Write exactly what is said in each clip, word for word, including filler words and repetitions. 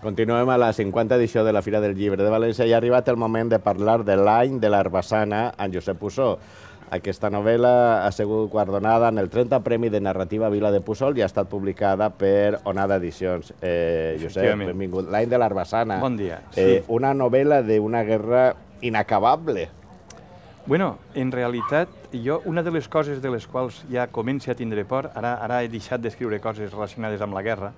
Continuem a la cinquanta edició de la Fira del Llibre de València i ha arribat el moment de parlar de l'any de l'Herbassana en Josep Puçó. Aquesta novel·la ha sigut guardonada en el trenta Premi de Narrativa Vila de Puçol i ha estat publicada per Onada Edicions. Eh, Josep, benvingut. L'any de l'Herbassana. Bon dia. Eh, una novel·la d'una guerra inacabable. Bueno, en realitat, jo, una de les coses de les quals ja començo a tindre por, ara, ara he deixat d'escriure coses relacionades amb la guerra,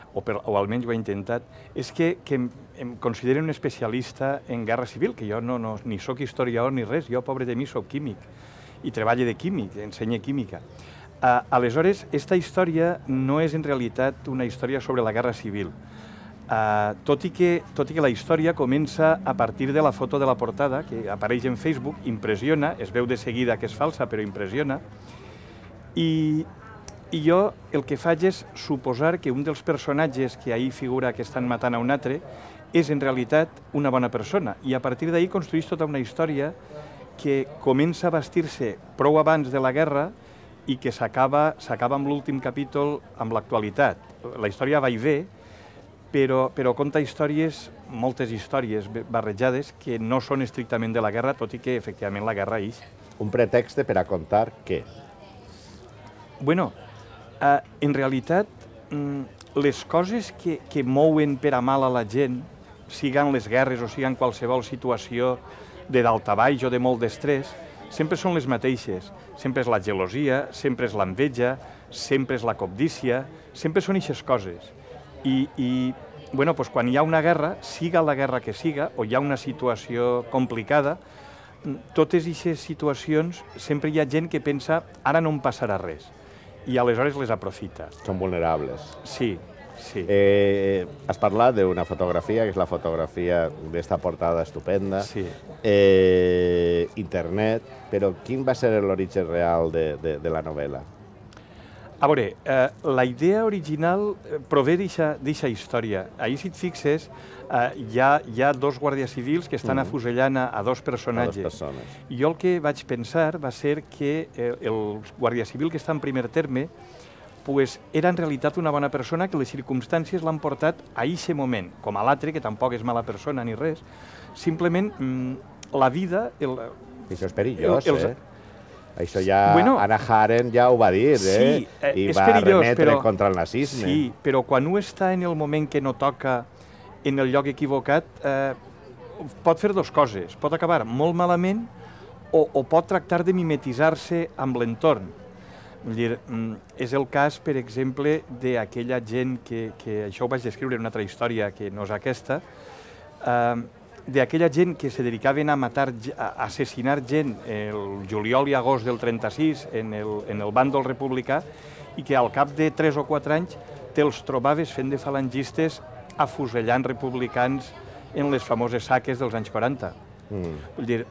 o, per, o almenys ho he intentat, és que, que em, em considero un especialista en guerra civil, que jo no, no, ni sóc historiador ni res, jo, pobre de mi, sóc químic, i treballo de químic, ensenyo química. Uh, aleshores, esta història no és en realitat una història sobre la guerra civil, Uh, tot, i que, tot i que la història comença a partir de la foto de la portada, que apareix en Facebook, impressiona, es veu de seguida que és falsa, però impressiona, i, i jo el que faig és suposar que un dels personatges que ahir figura que estan matant a un altre és en realitat una bona persona, i a partir d'ahir construeix tota una història que comença a vestir-se prou abans de la guerra i que s'acaba s'acaba amb l'últim capítol amb l'actualitat. La història va i ve, Però, però conta històries, moltes històries barrejades, que no són estrictament de la guerra, tot i que, efectivament, la guerra ix. Un pretext per a contar què? Bueno, eh, en realitat, les coses que, que mouen per a mal a la gent, siguin les guerres o siguin qualsevol situació de daltabaix o de molt d'estrès, sempre són les mateixes. Sempre és la gelosia, sempre és l'enveja, sempre és la cobdícia, sempre són eixes coses. I, i bueno, doncs quan hi ha una guerra, siga la guerra que siga, o hi ha una situació complicada, totes aquestes situacions sempre hi ha gent que pensa ara no em passarà res, i aleshores les aprofita. Són vulnerables. Sí, sí. Eh, has parlat d'una fotografia, que és la fotografia d'esta portada estupenda, sí. eh, internet, però quin va ser l'origen real de, de, de la novel·la? A veure, eh, la idea original prové d'aquesta història. Ahir, si et fixes, eh, hi, ha, hi ha dos guàrdies civils que estan mm. afusellant a, a dos personatges. A dos persones. Jo el que vaig pensar va ser que eh, el guàrdia civil que està en primer terme pues, era en realitat una bona persona que les circumstàncies l'han portat a aquest moment, com a l'altre, que tampoc és mala persona ni res. Simplement, mm, la vida... El, Això és perillós, el, els, eh? Això ja, bueno, Hannah Arendt ja ho va dir, eh? Sí, eh, I és va perillós, remetre però, contra el nazisme. Sí, però quan un està en el moment que no toca, en el lloc equivocat, eh, pot fer dues coses. Pot acabar molt malament o, o pot tractar de mimetitzar-se amb l'entorn. Vull dir, és el cas, per exemple, d'aquella gent que, que això ho vaig descriure en una altra història que no és aquesta, eh, d'aquella gent que se dedicaven a matar, a assassinar gent el juliol i agost del trenta-sis en el, en el bàndol republicà i que al cap de tres o quatre anys te'ls trobaves fent de falangistes afusellant republicans en les famoses saques dels anys quaranta. Mm. Vull dir,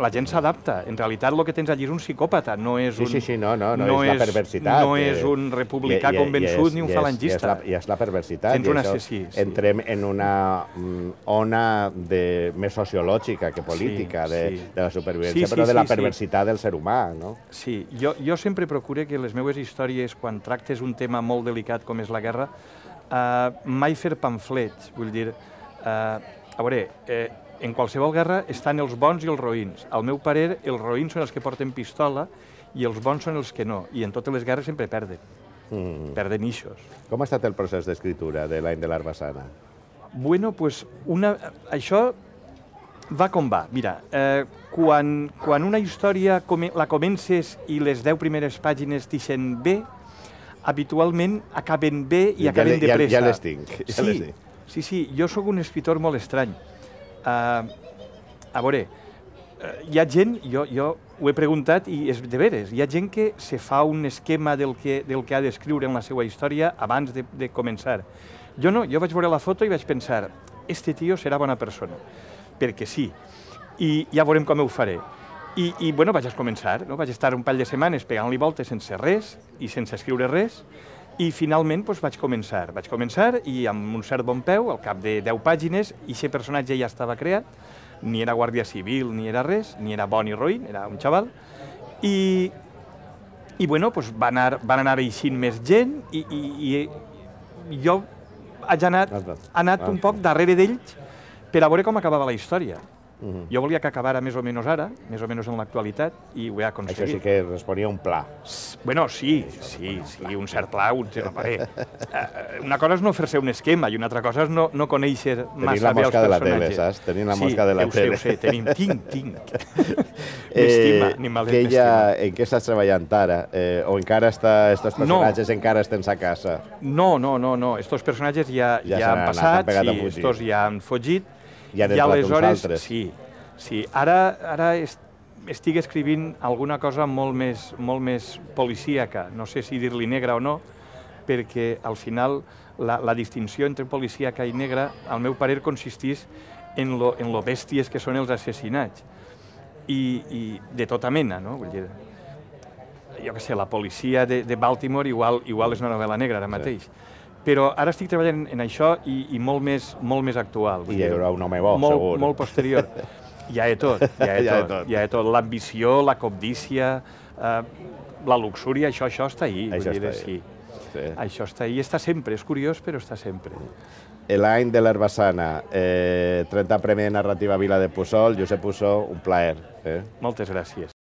la gent s'adapta. En realitat el que tens allí és un psicòpata, no és un... Sí, sí, sí, no, no, no, no és la perversitat. No és un republicà i, i, convençut i és, ni un falangista. I és, és la perversitat. Tens un assassí. Sí. Entrem en una mm, ona de, més sociològica que política, sí, de, sí. de la supervivència, sí, sí, però de la sí, perversitat sí. del ser humà, no? Sí, jo, jo sempre procuro que les meves històries, quan tractes un tema molt delicat com és la guerra, eh, mai fer pamflets, vull dir... Eh, a veure... Eh, En qualsevol guerra estan els bons i els roïns. Al meu parer, els roïns són els que porten pistola i els bons són els que no. I en totes les guerres sempre perden. Mm. Perden ixos. Com ha estat el procés d'escriptura de l'any de l'Herbassana? Bueno, pues una... això va com va. Mira, eh, quan, quan una història come... la comences i les deu primeres pàgines t'ixen bé, habitualment acaben bé i acaben ja, de pressa. Ja, ja les tinc. Ja sí, les tinc. sí, sí, jo sóc un escriptor molt estrany. Uh, a veure, uh, hi ha gent, jo, jo ho he preguntat i és de veres, hi ha gent que se fa un esquema del que, del que ha d'escriure en la seva història abans de, de començar. Jo no, jo vaig veure la foto i vaig pensar, este tio serà bona persona, perquè sí, i ja veurem com ho faré. I, i bueno, vaig començar, no? Vaig estar un parell de setmanes pegant-li voltes sense res i sense escriure res, i finalment doncs, vaig començar. Vaig començar i amb un cert bon peu, al cap de deu pàgines, aquest personatge ja estava creat, ni era guàrdia civil ni era res, ni era bon ni roïn, era un xaval, i, i bueno, doncs, va anar, van anar eixint més gent i, i, i jo haig anat, anat un poc darrere d'ells per a veure com acabava la història. Jo volia que acabara més o menys ara, més o menys en l'actualitat, i ho he aconseguit. Això sí que responia a un pla. Bueno, sí, sí, sí, un cert pla, un cert parer. Una cosa és no fer-se un esquema i una altra cosa és no, no conèixer massa bé els personatges. Tenir la mosca de la tele, saps? Tenir la mosca de la tele. Sí, ho sé, ho sé, tenim, tinc, tinc. M'estima, ni mal m'estima. En què estàs treballant ara? Eh, o encara està, estos personatges no. encara estan a casa? No, no, no, no. Estos personatges ja, ja, ja han passat, sí, estos ja han fugit. I han entrat uns altres. Sí, sí. Ara, ara est, estic escrivint alguna cosa molt més, molt més policíaca, no sé si dir-li negra o no, perquè al final la, la distinció entre policíaca i negra, al meu parer, consistís en lo, en lo bèsties que són els assassinats. I, i de tota mena, no? Vull dir, jo què sé, la policia de, de Baltimore igual, igual és una novel·la negra ara mateix. Sí. Però ara estic treballant en això i, i molt, més, molt més actual. I hi haurà un home bo, molt, segur. Molt posterior. Hi ha de tot, hi ha de tot. tot. Hi ha de tot. L'ambició, la cobdícia, eh, la luxúria, això, això està ahí. Això vull dir, està ahí. Sí. Sí. Això està ahí, està sempre, és curiós, però està sempre. L'any de l'Herbassana, eh, trenta Premi de Narrativa Vila de Puçol, Josep Puçol, un plaer. Eh? Moltes gràcies.